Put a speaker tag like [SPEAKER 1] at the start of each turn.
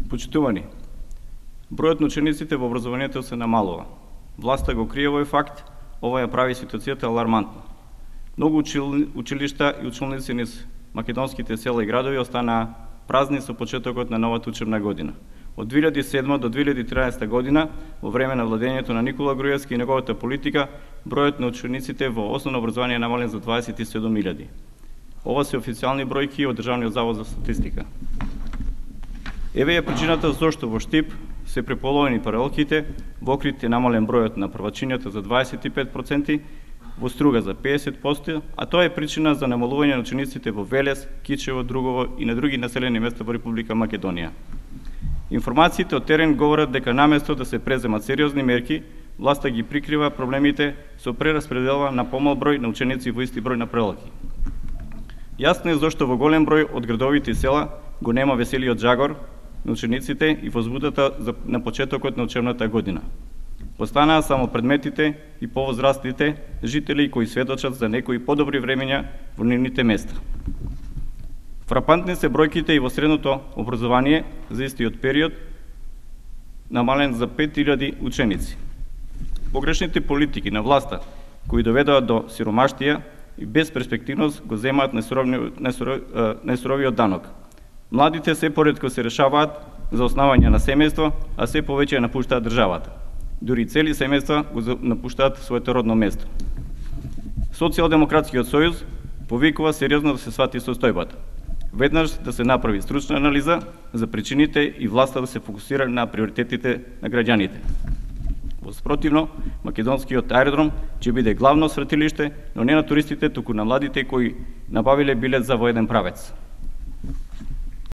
[SPEAKER 1] Почитувани, бројот на учениците во образованието се намалува. Власта го крие овој факт, ова ја прави ситуацијата алармантна. Многу училишта и училници низ македонските села и градови останаа празни со почетокот на новата учебна година. Од 2007 до 2013 година, во време на владењето на Никола Груевски и неговата политика, бројот на учениците во основно образование е намален за 27.000. Ова се официјални бројки од Државниот завод за статистика. Еве е причината зошто во Штип се преполовени паралелките, во Охрид е намален бројот на првачињата за 25%, во Струга за 50%, а тоа е причина за намалување на учениците во Велес, Кичево, Другово и на други населени места во Република Македонија. Информациите од терен говорат дека наместо да се преземат сериозни мерки, власта ги прикрива проблемите со прераспределба на помал број на ученици во исти број на паралелки. Јасно е зошто во голем број од градовите и села го нема веселиот жагор на учениците и возбудата на почетокот на учебната година. Останаа само предметите и повозрастните жители кои сведочат за некои подобри времења во нивните места. Фрапантни се бројките и во средното образование за истиот период, намален за 5000 ученици. Погрешните политики на власта кои доведоа до сиромаштија и безперспективност го земаат најсуровиот данок. Младите се поретко се решаваат за основање на семејство, а се повеќе напуштаат државата. Дури цели семејства го напуштаат своето родно место. Социјалдемократскиот сојуз повикува сериозно да се свати состојбата. Веднаш да се направи стручна анализа за причините и власта да се фокусира на приоритетите на граѓаните. Во спротивно, македонскиот аеродром ќе биде главно свратилиште, но не на туристите, туку на младите кои набавиле билет за во еден правец.